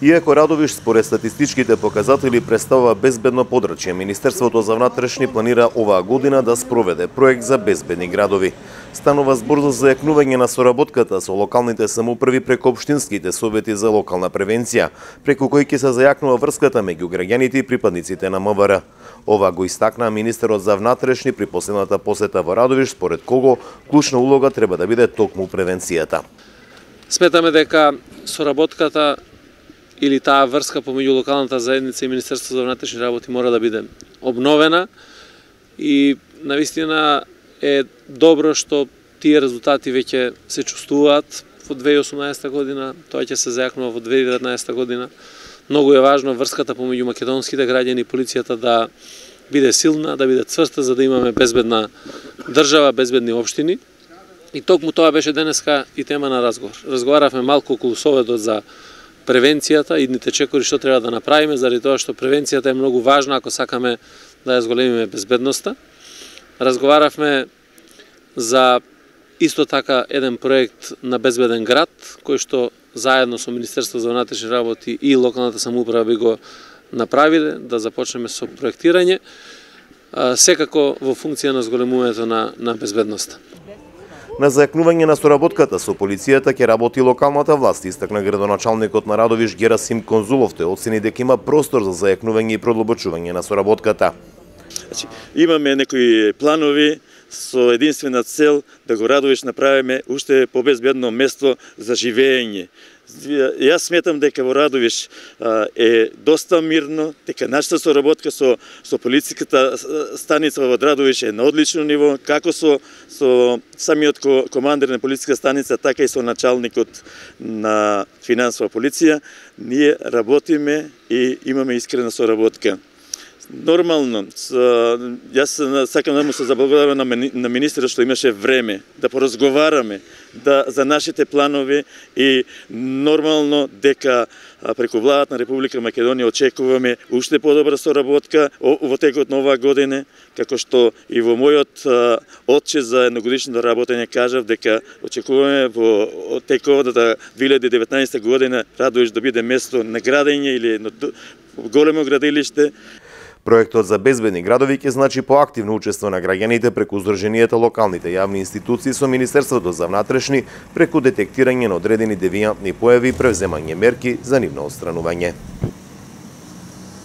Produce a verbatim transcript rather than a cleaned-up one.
Иако Радовиш според статистичките показатели представува безбедно подрачје, Министерството за внатрешни планира оваа година да спроведе проект за безбедни градови. Станува збор за зајакнување на соработката со локалните самоуправи преку општинските совети за локална превенција, преку кои ќе се зајакнува врската меѓу граѓаните и припадниците на М В Р. Ова го истакна министерот за внатрешни при последната посета во Радовиш, според кого клучна улога треба да биде токму превенцијата. Сметаме дека соработката или таа врска помеѓу локалната заедница и Министерството за внатрешни работи мора да биде обновена и навистина е добро што тие резултати веќе се чувствуваат во две илјади и осумнаесета година, тоа ќе се зајакнува во две илјади и деветнаесета година. Многу е важно врската помеѓу македонските граѓани и полицијата да биде силна, да биде цврста, за да имаме безбедна држава, безбедни општини. И токму тоа беше денеска и тема на разговор. Разговаравме малку околу советот за превенцијата, идните чекори што треба да направиме, заради тоа што превенцијата е многу важна ако сакаме да ја зголемиме безбедноста. Разговаравме за исто така еден проект на безбеден град, кој што заедно со Министерството за внатрешни работи и локалната самоуправа би го направиле, да започнеме со проектирање, секако во функција на зголемувањето на, на безбедноста. На зајакнување на соработката со полицијата ќе работи локалната власт, истакна градоначалникот на Радовиш Герасим Конзулов, тој оцени дека има простор за зајакнување и продлабочување на соработката. Значи, имаме некои планови со единствена цел да го Радовиш направиме уште побезбедно место за живење. Јас сметам дека во Радовиш а, е доста мирно, дека нашата соработка со со полициската станица во Радовиш е на одлично ниво, како со со самиот командир на полициската станица, така и со началникот на финансова полиција. Ние работиме и имаме искрена соработка. Нормално, јас сакам да му се заблагодарам на министерот што имаше време да поразговараме да, за нашите планови и нормално дека преку владата на Република Македонија очекуваме уште подобра соработка во текот на оваа година, како што и во мојот отчет за едногодишното работење кажав дека очекуваме во текот на две илјади и деветнаесета година Радовиш да биде место на градење или на големо градилиште. Проектот за безбедни градови ќе значи поактивно учество на граѓаните преку Сдруженијата локалните јавни институции со Министерството за внатрешни преку детектирање на одредени девијантни појави и превземање мерки за нивно отстранување.